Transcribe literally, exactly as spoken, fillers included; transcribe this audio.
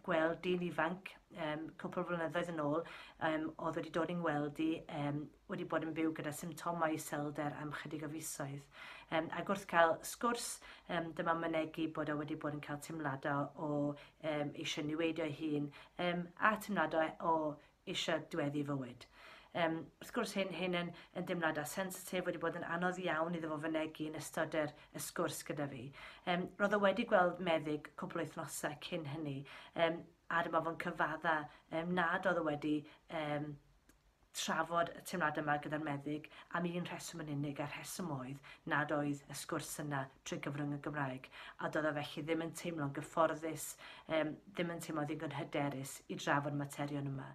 gweld dyn ifanc um, cwpl o flynyddoedd yn ôl um, oedd wedi dod i'n gweld i um, wedi bod yn byw gyda symptomau iselder am chydig o fisoedd. Um, ac wrth cael sgwrs, um, dyma mynegi bod o wedi bod yn cael teimladau o um, eisiau niweidio ei hun um, a teimladau o eisiau diweddu fywyd. Um, wrth gwrs hyn, hyn yn, yn deimladau sensitif wedi bod yn anodd iawn iddo fo fynegi yn ystod yr, y sgwrs gyda fi. Um, roedd o wedi gweld meddyg cwpl o wythnosau cyn hynny, um, a dyma fo'n cyfadda um, nad oedd o wedi um, trafod y teimladau yma gyda'r meddyg am un rheswm yn unig, a'r rheswm oedd nad oedd y sgwrs yna trwy gyfrwng y Gymraeg, a doedd o felly ddim yn teimlo'n gyfforddus, um, ddim yn teimlo ddigon hyderus i drafod materion yma.